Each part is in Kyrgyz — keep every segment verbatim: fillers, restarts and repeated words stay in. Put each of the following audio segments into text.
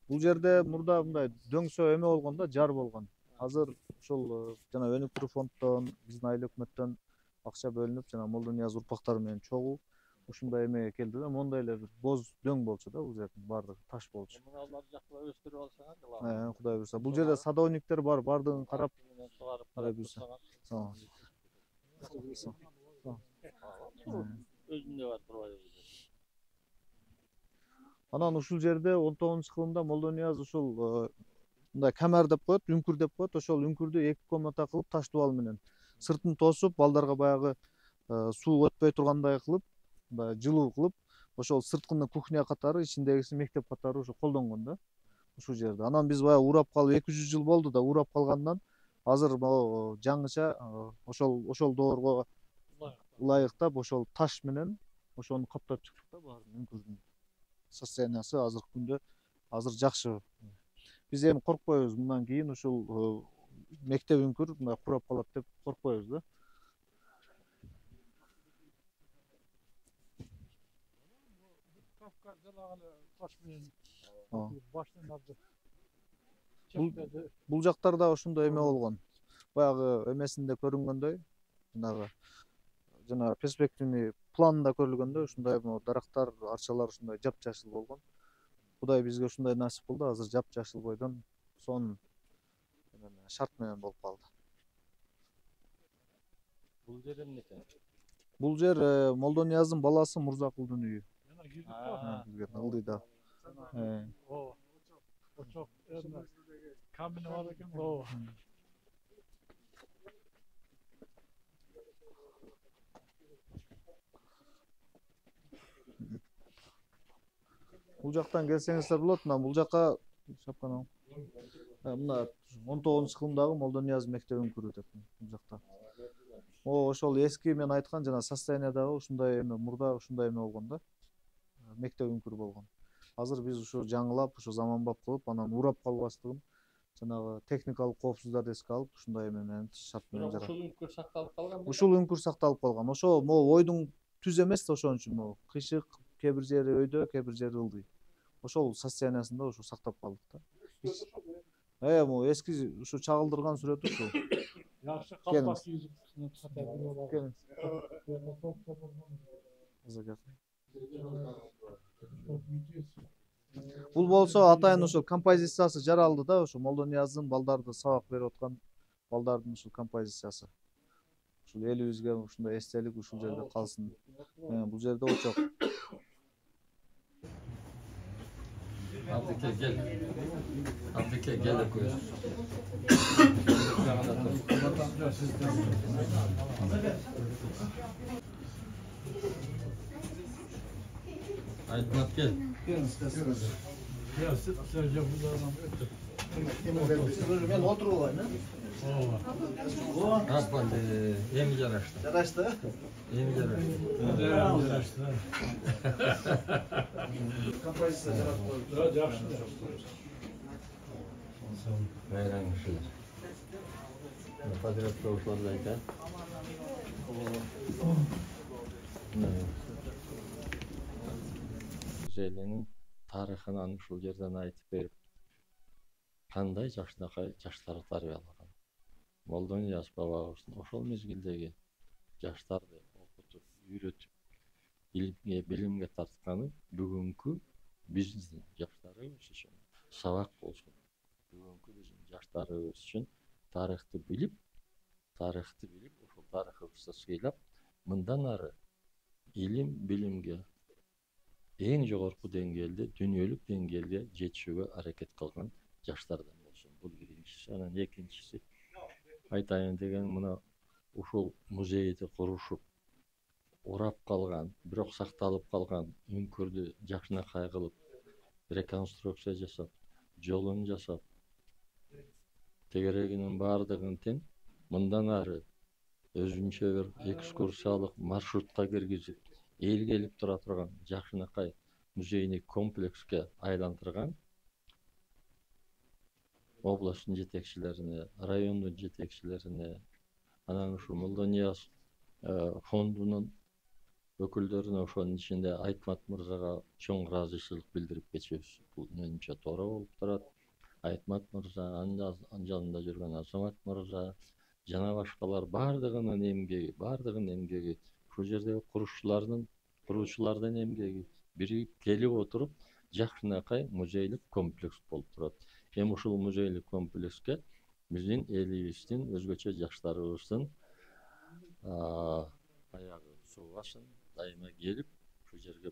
Бул жерде мурда мындай дөңсө эме болгон да, жар болгон. Азыр ушул жана өнүктүрүү фонддон, биздин айыл өкмөттөн акча бөлүнүп, жана Молдонияз урпактары менен чогуу ушундай эмеге келди да, моундай эле бир боз дөң болчу да, бул жердин баардыгы таш болчу. Муну алар жакта өстүрүп алсаңар, Э, Кудай буюрса. Бул жерде садовниктер бар, баардыгын карап, сугарып Кудай карап буюрса. турсаңар. Өзүндө бар турбайбы? Анан ушул жерде он тогузунчу кылымда Молдонияз ушул мындай камер деп коет, үңкүр деп коет. Ошол үңкүрдү эки комната кылып, таш дубал менен сыртын тосуп, балдарга баягы суу өтпөй тургандай кылып, мындай жылуу кылып, ошол сырткыны кухня катары, ичиндегиси мектеп катары ушу колдонгон да ушул жерде. Анан биз баягы урап калып эки жүз жыл болду да, урап калгандан азыр могу жаңыча ошол ошол доорго ылайыктап ошол таш менен ошону каптап чыктык да, баарын үңкүрдүн состояниясы азыркы күндө азыр жакшы. Биз эми коркпойбуз, мындан кийин ушул мектеп үңкүр мындай курап калат деп коркпойбуз да. Бул жактарда ошондой эме болгон. Баягы эмесинде көрүнгөндөй, жанагы жана перспективный планында көрүлгөндөй ушундай дарактар, арчалар ушундай жапжашыл болгон. Кудай бизге ушундай насип кылды, азыр жапжашыл бойдон сонун шарт менен болуп калды. Бул жер эмнекен? Бул жер Молдонияздын баласы Мурзакулдун үйү. Бизге ылдый да. Ооба. Очок эме камени бар экен. Ооба. Бул жактан келсеңиздер болот. Мына бул жака шапканы. Мына он тогузунчу кылымдагы Молдонияз мектеп үңкүрү деп бул жакта. О, ошол эски мен айткан жана состояниядагы ушундай эме мурда ушундай эме болгон да. Мектеп үңкүрү болгон. Азыр биз ушу жаңылап, ушу заманбап кылып, анан урап калбастыгын жанагы техникалык коопсуздуктарды эске алып, ушундай эме менен шарт менен жарат. Ушул үңкүр сакталып калган. Ушул үңкүр сакталып калган. Ошо могу ойдун түз эмес да, ошон үчүн могу кыйшык, кээ бир жери өйдө, кээ бир жери ылдый. Ошол состояниясында ушу сактап калдык да. Э, могу эски ушу чагылдырган сүрөт ушул. Жакшы калпак кийип. Бул болсо атайын ушул композициясы жаралды да, ошо Молдонияздын балдарды сабак берип аткан балдардын ушул композициясы. Ушул элибизге ушундай эстелик ушул жерде калсын. Бул жерде очок. Абдыке гел. Абдыке гел көз. Айтмат гел. Мен отуруп алайын, э? Ооба. Аспан эми жарашты. Жарашты? Эми жарашты. Жарашты. Композиция жарап коюп. Да, жакшы. Байрам кишилер. Подрядка ушуларды айтат. Желенин тарыхынан ушул жерден айтып берип, кандай жашнакай жаштар тарбиялаган. Молдонияз бабабыздын ошол мезгилдеги жаштарды окутуп, үйрөтүп, илимге, билимге тартканы бүгүнкү биздин жаштарыбыз үчүн сабак болсун. Бүгүнкү биздин жаштарыбыз үчүн тарыхты билип, тарыхты билип, ошол тарыхыбызды сыйлап, мындан ары илим, билимге эң жогорку деңгээлде, дүйнөлүк деңгээлге жетүүгө аракет кылган жаштардан болсун. Бул биринчиси. Анан экинчиси айтайын деген мына ушул музейди курушуп, урап калган, бирок сакталып калган үңкүрдү жакшынакай кылып, реконструкция жасап, жолун жасап, тегерегинин баардыгын тең мындан ары өзүнчө бир экскурсиялык маршрутка киргизип, эл келип тура турган жакшынакай музейный комплекске айлантырган областтын жетекчилерине, райондун жетекчилерине, анан ушу Молдонияз фондунун өкүлдөрүнө, ошонун ичинде Айтмат мырзага чоң ыраазычылык билдирип кетебиз. Бул менимче туура болуп турат. Айтмат мырза, анын жанында жүргөн Азамат мырза жана башкалар баардыгынын эмгеги, баардыгынын эмгеги, ушул жердеги курушчулардын, куруучулардын эмгеги биригип келип отуруп жакшынакай музейлик комплекс болуп турат. Эми ушул музейлик комплекске биздин элибиздин, өзгөчө жаштарыбыздын аягы суугасын дайыма келип, ушул жерге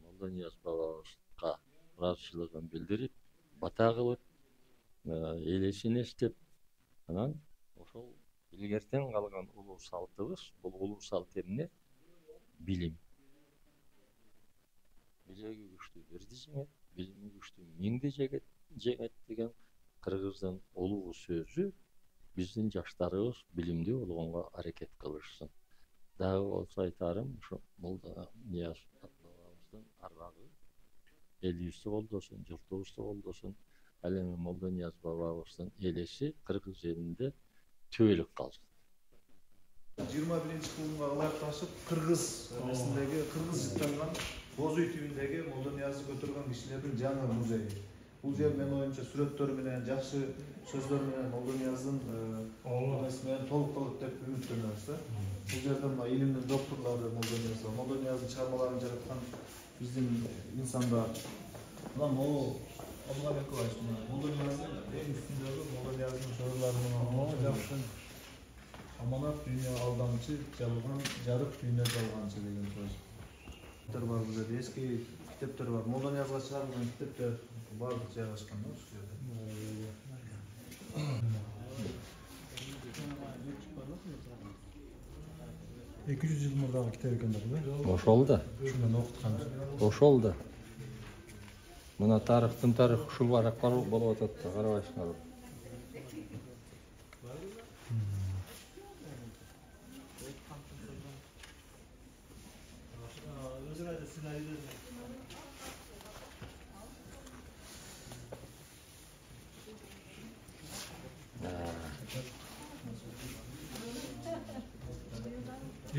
Молдонияз бабабызга ыраазычылыгын билдирип, бата кылып, элесин эстеп, анан ошол илгертен калган улуу салтыбыз, бул улуу салт эмне? Билим. Билеги күчтүү бирди жеңет, билими күчтүү миңди жеңет деген кыргыздын улуу сөзү биздин жаштарыбыз билимдүү болгонго аракет кылышсын. Дагы болсо айтарым, ушу Молдонияз бабабыздын арбагы элибизди колдосун, журтубузду колдосун. Ал эми Молдонияз бабабыздын элеси кыргыз элинде түбөлүк калсын. жыйырма биринчи кылымга ылайыкташып, кыргыз эмесиндеги, кыргыз жыттанган боз үй түбүндеги Молдониязды көтөргөн кишилердин жаңы музейи. Бул жер менин оюмча сүрөттөр менен, жакшы сөздөр менен Молдонияздын эмеси менен толук калат деп үмүттөнөбүз да. Бул жерде мына илимдин докторлору Молдонияз, Молдонияздын чыгармаларын жараткан биздин инсандар. Мына могу Абдулла Бекович, Молдонияздын эң үстүндөгү Молдонияздын сөзлөрү менен жакшы аманат дүйнө алдамчы, жалган, жарык дүйнө жалганчы деген сөз. Китептер бар бул жерде, эски китептер бар. Молдониязга чыгарылган китептер баардык жайгашкан да ушул жерде. эки жүз жыл мурдагы китеп экен да бул. Ошол да. Ушундан окуткан. Ошол да. Мына тарыхтын тарыхы ушул баракка болуп атат да, карабайсыңарбы?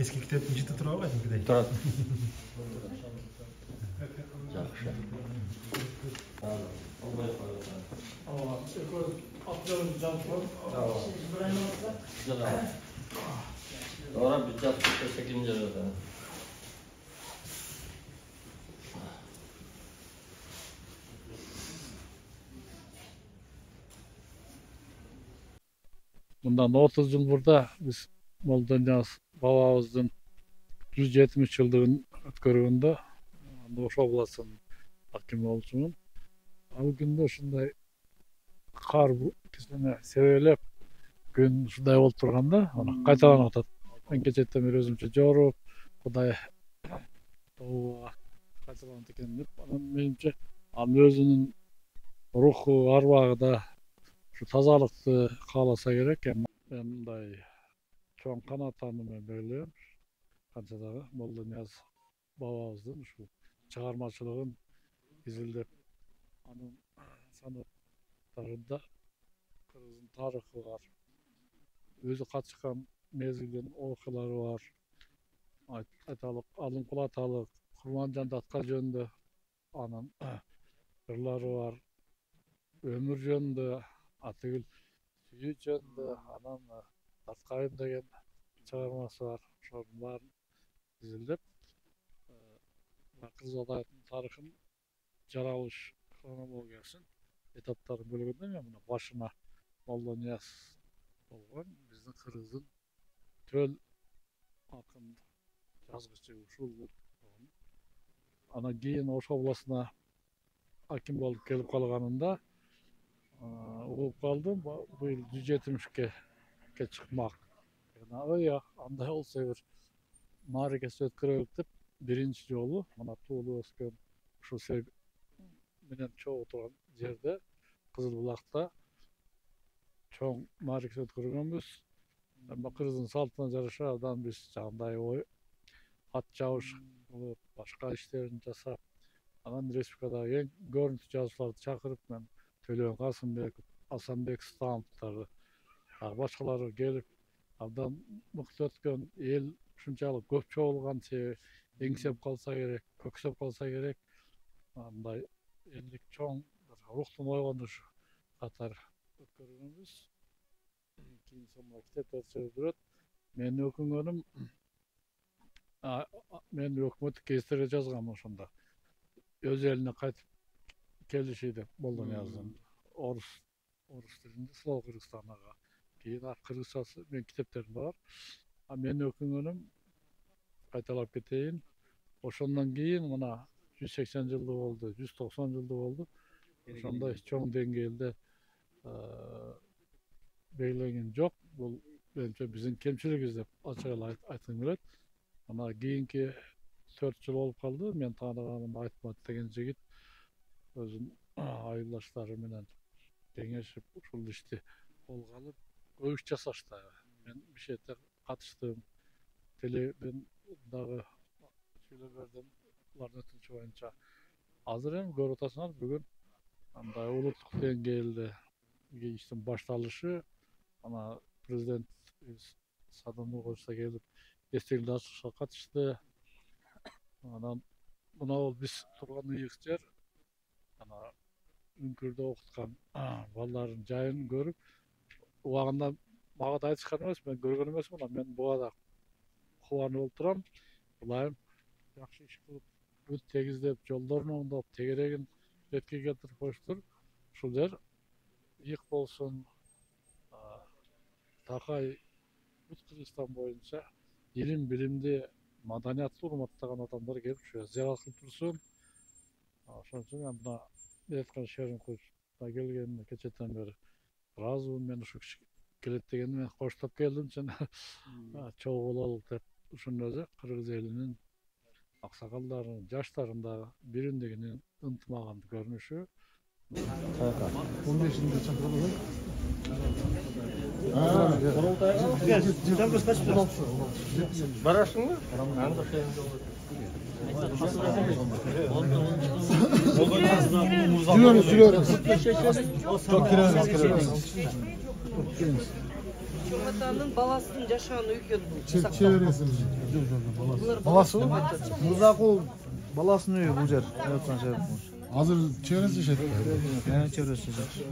Eski kiteптин жыты тура албайсыңбы? Турат. Жакшы. Ora bir yaptık sekizinci arada. Bundan otuz yıl burada biz Молдонияз бабабыздын жүз жетимиш жылдыгын өткөргөндө Ош областынын акими болчумун. Ал күндө ушундай кар кичине себелеп күн ушундай болуп турганда, аны кайталанып атат. Мен кечээттен бери өзүмчө жоруп, Кудай тобуга кайталанат экен деп, анан менимче анын өзүнүн руху, арбагы да ушу тазалыкты кааласа керек. Мен мындай чоң канааттануу менен белгилейм. Канча дагы Молдонияз бабабыздын ушул чыгармачылыгын изилдеп, анын санаттарында кыргыздын тарыхы бар, өзү катышкан мезгилдин окуялары бар. Айталык, алым кулаталык, Курманжан Датка жөнүндө анын ырлары бар, өмүр жөнүндө, атыгыл сүйүү жөнүндө, анан Таткайым деген чыгармасы бар. Ошонун баарын изилдеп, Кыргыз алайыттын тарыхын жаралыш хронологиясын этаптарын бөлгөндө мен мына башына Молдонияз болгон биздин кыргыздын төл акын, жазгычы ушул. Анан кийин Ош областына аким болуп келип калганында угуп калдым, быйыл жүз жетимишке чыкмак. Ой, андай болсо бир мааракеси өткөрөлүк деп биринчи жолу мына туулуп өскөн ушул сел менен чогуу турган жерде Кызыл Булакта чоң мааракеси өткөргөнбүз. Кыргыздын салтына жараша абдан биз жагындай ой ат жабыш кылып, башка иштерин жасап, анан республикадагы эң көрүнүктүү жазуучуларды чакырып, мен Төлөбек Касымбеков, Асанбек Становтарды, башкалары келип, абдан мыкты өткөн, эл ушунчалык көп чогулган себеби эңсеп калса керек, көксөп калса керек. Андай элдик чоң рухтун ойгонушу катары өткөргөнбүз. Кийин сонун китептер чыгып. Менин өкүнгөнүм, мен өкмөттүк кездерде жазгам ошондо. Өз элине кайтып келиши деп Молдонияздын орус орус тилинде Слава Кыргызстанага. Кийин кыргызчасы менин китептеримде бар. А менин өкүнгөнүм кайталап кетейин. Ошондон кийин мына жүз сексен жылдык болду, жүз токсон жылдык болду. Ошондой чоң деңгээлде белгиленген жок. Бул менимче биздин кемчилигибиз деп ачык эле айткым келет. Ана кийинки төрт жыл болуп калды. Мен тааныганым Айтмат деген жигит өзүнүн айылдаштары менен кеңешип ушул ишти колго алып көп иш жасашты. Мен бир четте катыштым. Телебин дагы сүйлөп бердим. Алардын өтүнүчү боюнча. Азыр эми көрүп атасыңар, бүгүн андай улуттук деңгээлде иштин башталышы, ана президент Садам Нуркожо келип эстеликти ачышка катышты. Анан мына бул биз турган ыйык жер, ана Үңкүрдө окуткан балдардын жайын көрүп, убагында мага да айтышкан эмес, мен көргөн эмесмин, мен буга да кубанып болуп турам. Булайым жакшы иш кылып, бүт тегиздеп, жолдорун оңдоп, тегерегин ретке келтирип коюштур. Ушул жер ыйык болсун, Такай бүт Кыргызстан боюнча илим, билимди, маданиятты урматтаган адамдар келип ушу зыярат кылып турсун. Ошон үчүн мен мына айткан шерин кылышка келгениме кечээден бери ыраазымын. Мен ушу киши келет дегениме коштоп келдим, чын чогуу бололук деп. Ушунун өзү кыргыз элинин аксакалдарынын, жаштардын дагы биримдигинин ынтымагын көрүнүшү. он бешинде чакырылды. Барасыңбы? Жүрөбүз, жүрөбүз. Чоңатанын баласынын жашаган үйгө Чебересиз. Баласы? Мурзакул баласынын үйү бул жер. Азыр чебересиз жашайт. Э, чебересиз жашайт.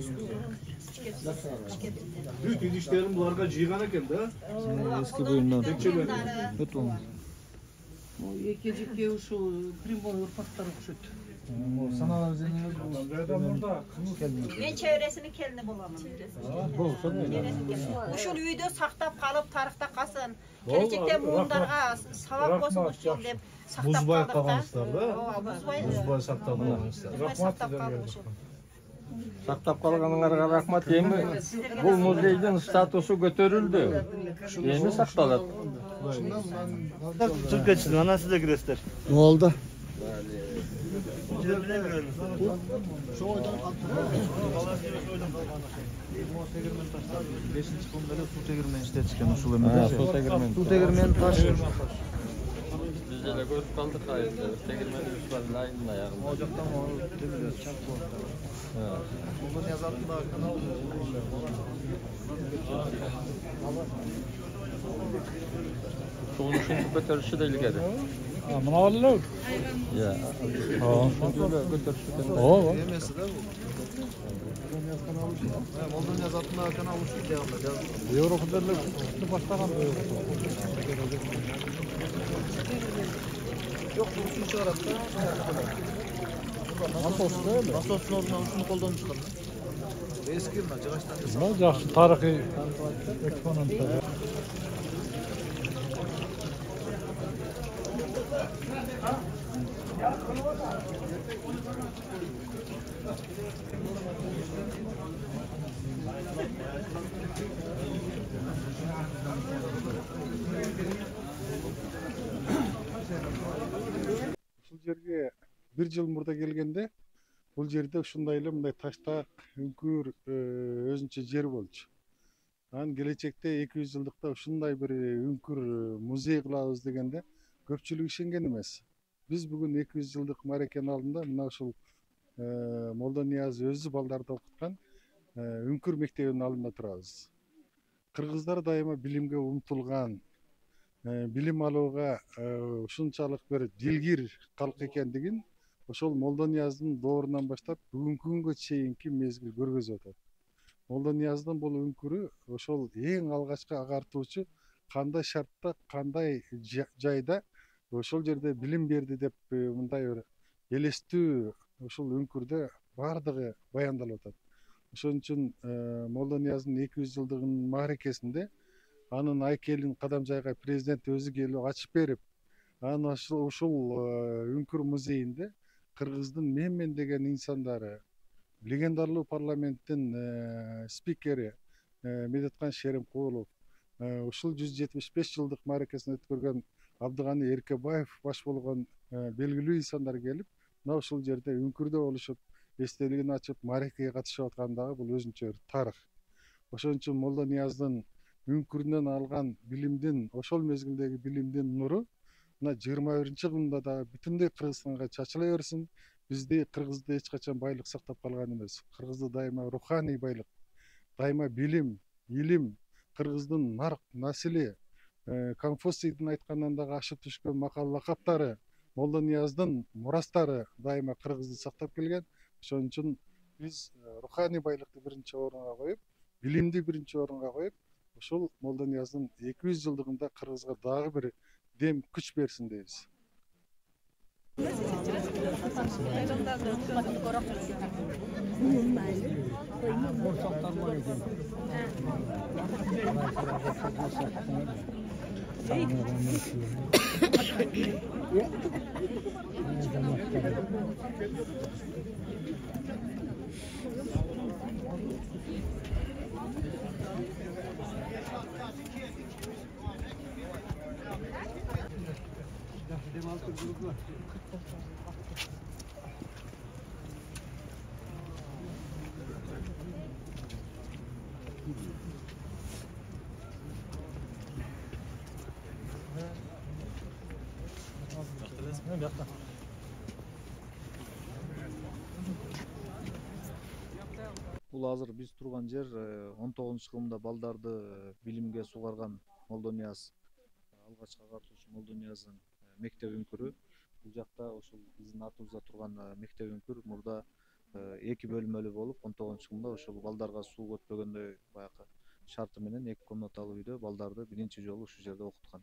Бүт идиштерин буларга жыйган экен да. Эски буюмдан. Өт болду. эки жеке ушул Приморье урпактары окшойт. Саналар жеңиңиз Мен чебересинин келини болом. Ушул үйдө сактап калып, тарыхта калсын. Келечекте муундарга сабак болсун деп сактап калдык. Бузбай калгансыздар да? Ооба, бузбай. Бузбай сактап калгансыздар. Бузбай сактап калдык ушул. Сактап калганыңарга рахмат. Эми бул музейдин статусу көтөрүлдү. Эми сакталат. Чыгып кетишти, анан сиз да киресиздер. Болду. бешинчи кылымда эле суу тегирмени иштетишкен ушул эме. Суу тегирмени. Суу тегирмени таш. Биз деле көрүп калдык айында. Тегирменибиз бар айдын аягында. Ал жактан демелер чак болот. Молдон язатында канал. Суун ушинтип көтөрүшү да илгери. Мына эле. Иә. Ошентип эле көтөрүшү экен. Ооба. Эмеси да бул. Молдон язатында канал ушул жагында жазылган. Европа деле баштаган. Жок, бул суу чыгарат да. Насосто эле. Насостун ордуна ушуну колдонушкан. Эски мына жыгачтан жасалган. Мына жакшы тарыхый экспонаттар. Ушул жерге бир жыл мурда келгенде бул жерде ушундай эле мындай таштак үңкүр өзүнчө жер болчу. Анан келечекте эки жүз жылдыкта ушундай бир үңкүр музей кылабыз дегенде көпчүлүк ишенген эмес. Биз бүгүн эки жүз жылдык мааракенин алдында мына ушул Молдонияз өзү балдарды окуткан үңкүр мектебинин алдында турабыз. Кыргыздар дайыма билимге умтулган, билим алууга ушунчалык бир дилгир калк экендигин ошол Молдонияздын доорунан баштап бүгүнкү күнгө чейинки мезгил көргөзүп атат. Молдонияздын бул үңкүрү ошол эң алгачкы агартуучу кандай шартта, кандай жайда ошол жерде билим берди деп мындай бир элестүү ушул үңкүрдө баардыгы баяндалып атат. Ошон үчүн Молдонияздын эки жүз жылдыгынын мааракесинде анын айкелин Кадамжайга президент өзү келип ачып берип, анан ушул үңкүр музейинде кыргыздын Менмен деген инсандары, легендарлуу парламенттин спикери Медеткан Шеримкулов, ушул жүз жетимиш беш жылдык мааракесин өткөргөн Абдыганы Эркебаев баш болгон белгилүү инсандар келип, мына ушул жерде үңкүрдө болушуп, эстелигин ачып, мааракеге катышып аткандагы бул өзүнчө бир тарых. Ошон үчүн Молдонияздын үңкүрүнөн алган билимдин, ошол мезгилдеги билимдин нуру мына жыйырма биринчи кылымда дагы бүтүндөй Кыргызстанга чачыла берсин. Бизди Кыргызды эч качан байлык сактап калган эмес. Кыргызды дайыма руханий байлык, дайыма билим, илим, Кыргыздын нарк, насили, Конфуцийдин айткандан дагы ашып түшкөн макал лакаптары, Молдонияздын мурастары дайыма Кыргызды сактап келген. Ошон үчүн биз руханий байлыкты биринчи орунга коюп, билимди биринчи орунга коюп, ошол Молдонияздын эки жүз жылдыгында Кыргызга дагы бир дем күч берсин дейбиз. Бул азыр биз турган жер он тогузунчу кылымда балдарды билимге сугарган Молдонияз, алгачкы агартуучу Молдонияздын мектеп үңкүрү. Бул жакта ошол биздин атыбызда турган мектеп үңкүр мурда эки бөлмөлүү болуп, он тогузунчу кылымда ошол балдарга суу өтпөгөндөй баягы шарты менен эки комнаталуу үйдө балдарды биринчи жолу ушул жерде окуткан.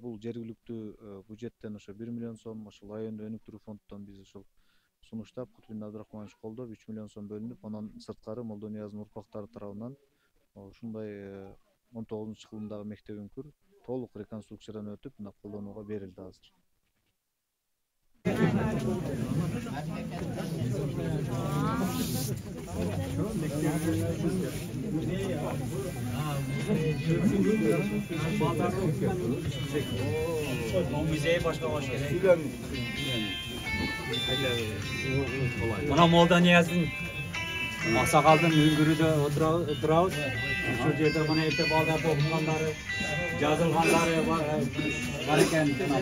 Бул жергиликтүү бюджеттен ошо бир миллион сом, ошол айондо өнүктүрүү фонддон биз ошол сунуштап, Кутбулдин Абдрахманович колдоп үч миллион сом бөлүнүп, анан сырткары Молдонияздын урпактары тарабынан ушундай он тогузунчу кылымдагы мектеп үңкүр толук реконструкциядан өтүп, мына колдонууга берилди азыр. Музей башка болуш керек. Мына Молдонияздын аксакалдын үңкүрүдө отурабыз. Ушул жерде мына эрте балдарды окуткандары, жазылгандары бар экен мына